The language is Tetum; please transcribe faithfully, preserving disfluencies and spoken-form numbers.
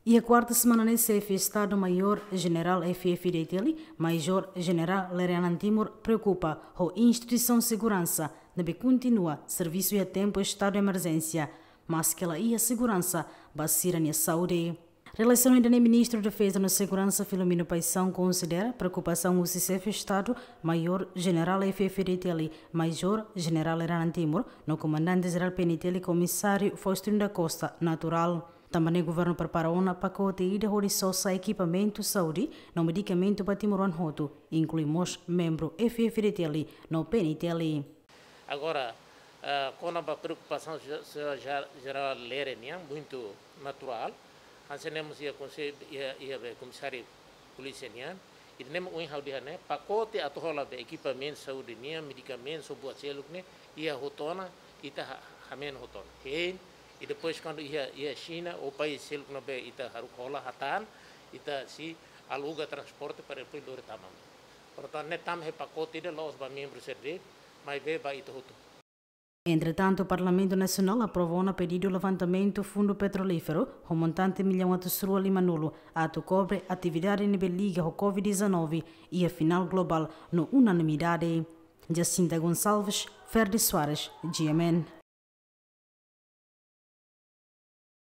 Iha kuarta semana ne'e, Xefe Estadu Maiór Jenerál F F D T L, Major Jenerál Lere Anan Timur, preokupa ho instituisaun seguransa ne'ebé kontinua servisu iha tempu estadu emerjénsia, maske la iha seguransa ba sira-nia saúde. Relasaun ida-ne'e, Ministru Defeza no Seguransa, Filomeno Paixão, konsidera preokupasaun husi Xefe Estadu Maiór Jenerál F F D T L, Major Jenerál Lere Anan Timur, no Komandante Jerál P N T L, Komisáriu Faustino da Costa, naturál. Tanba ne'e, governu prepara ona pakote ida hodi sosa ekipamentu saúde no medikamentu ba timoroan hotu, inklui mós membru F F D T L no P N T L. Agora, ah, kona-ba preokupasaun se-, se-, ja-, Jenerál Lere nian, muitu naturál. Hanesan ne'e mós iha konse-, iha, iha be Komisáriu Polísia nian. Ida-ne'e mak ohin ha'u dehan ne'e, pakote atu hola be ekipamentu saúde nian, medikamentu, buat seluk ne'e, iha hotu ona, ita ha-, hameno hotu ona. Hein, i depois kuandu iha, iha Xina, ou país seluk ne'ebé ita haruka hola, hatán, ita sei aluga transporte para depois lori tama. Portantu, ne'e tama iha pakote ida, la'ós ba membru sira de'it, maibé ba ita hotu. Entretantu, Parlamentu Nasionál aprova ona pedidu levantamentu fundu petrolíferu ho montante millaun atus rua lima-nulu, atu kobre atividade ne'ebé liga ho covid dezanove iha final globál no unanimidade. Jacinta Gonçalves, Ferdi Soares, G M N.